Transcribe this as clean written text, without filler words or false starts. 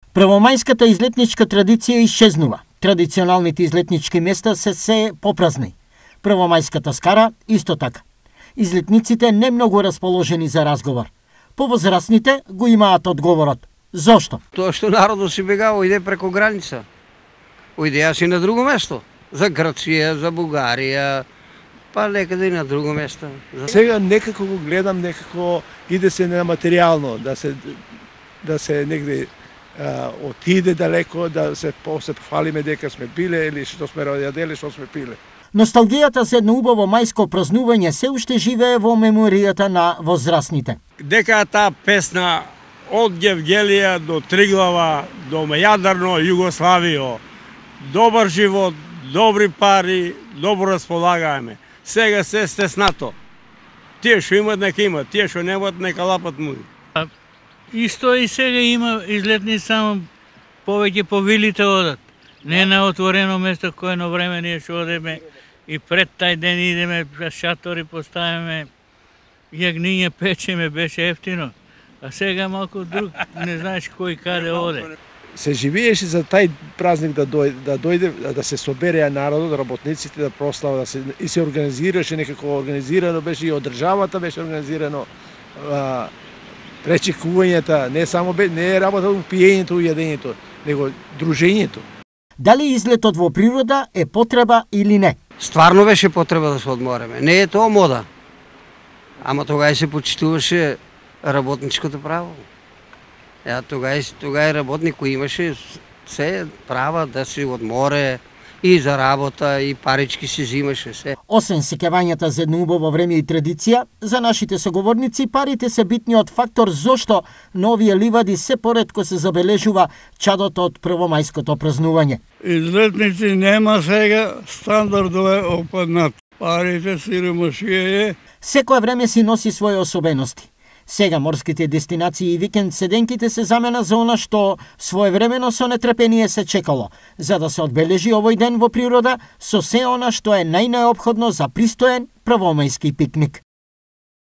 Првомајската излетничка традиција исчезнува. Традиционалните излетнички места се попразни. Првомајската скара исто така. Излетниците не многу расположени за разговор. Повозрастните го имаат одговорот. Зошто? Тоа што народот си бегава, иде преко граница. Ојде јас и на друго место. За Грција, за Бугарија, па некаде и на друго место. Сега некако го гледам, некако иде се на материјално, да се негде отиде далеко, да се пофалиме дека сме биле или што сме јадели, што сме пиле. Носталгијата за едно убаво мајско празнување се уште живее во меморијата на возрастните. Дека таа песна од Гевгелија до Триглава, до Јадрно, Југославијо, добар живот, добри пари, добро располагаеме. Сега се стеснато. Тие што имат, нека имат, тие што немат, нека лапат муи. Исто и сега има излетни, само повеќе по вилите одат. Не на отворено место кое на време ние што одеме и пред тај ден идеме, шатори поставиме, јагниње печеме, беше ефтино. А сега малку друг, не знаеш кој каде оде. Се живееше за тај празник да дојде, да се собереа народот, работниците да прослава, и се организираше некако организирано, беше и од државата беше организирано, пречекувањата, не само не е работа у пиењето, у јадењето, него дружењето. Дали излетот во природа е потреба или не? Стварно беше потреба да се одмореме. Не е тоа мода. Ама тогаш се почитуваше работничкото право. Тогаш работник кој имаше се права да се одморе и за работа, и парички се взимаше се. Освен сеќавањата за едно убаво време и традиција, за нашите соговорници парите се битниот фактор зошто на овие ливади се поретко се забележува чадото од првомајското празнување. Излетници нема сега, стандардове опаднат. Парите сиромашија е. Секое време си носи своји особености. Сега морските дестинации и викенд седенките се замена за она што своевремено со нетрпение се чекало, за да се одбележи овој ден во природа со се она што е најнеопходно за пристоен првомајски пикник.